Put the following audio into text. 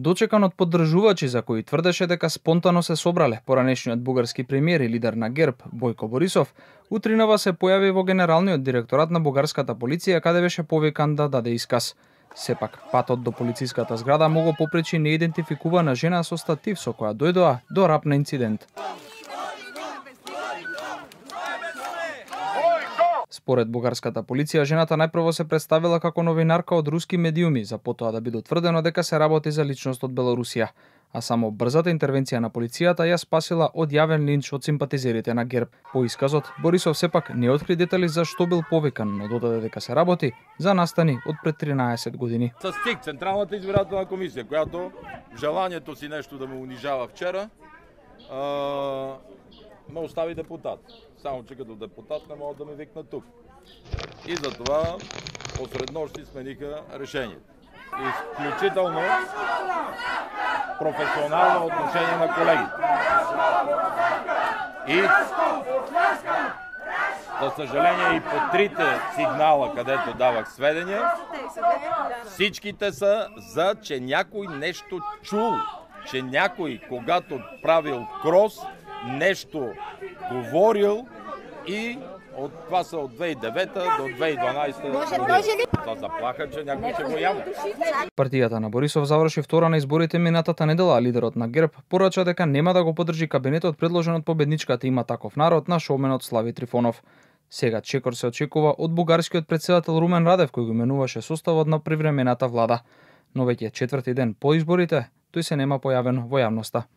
дочекан од поддржувачи за кои тврдеше дека спонтано се собрале, поранешниот бугарски премиер и лидер на ГЕРБ Бојко Борисов, утринава се појави во Генералниот директорат на бугарската полиција каде беше повикан да даде исказ. Сепак, патот до полициската зграда му го попречи неидентификувана жена со статив со која дојдоа до рап на инцидент. Според бугарската полиција, жената најпрво се представила како новинарка од руски медиуми, за потоа да биде утврдено дека се работи за личност од Белорусија, а само брзата интервенција на полицијата ја спасила од јавен линч од симпатизерите на ГЕРБ. По исказот, Борисов сепак не откри детали за што бил повикан, но додаде дека се работи за настани од пред 13 години. С ЦИК, Централната избирателна комисија, којато желањето си нешто да ме унижава вчера, ме остави депутат. Само че като депутат не могат да ме викнат тук. И затова посред нощи смениха решението. Изключително професионално отношение на колегите. И за съжаление и по трите сигнала, където давах сведения, всичките са за, че някой нещо чул, че някой, когато правил крос, нещо говорил и од това са од 2009 до 2012 година. За заплаха, че някой ќе го јави. Партијата на Борисов заврши втора на изборите минатата недела, а лидерот на ГЕРБ порача дека нема да го поддржи кабинетот предложен од победничката Има таков народ на шоуменот Слави Трифонов. Сега чекор се очекува од бугарскиот претседател Румен Радев, кој го именуваше составот на привремената влада. Но веќе четврти ден по изборите, тој се нема појавен во јавноста.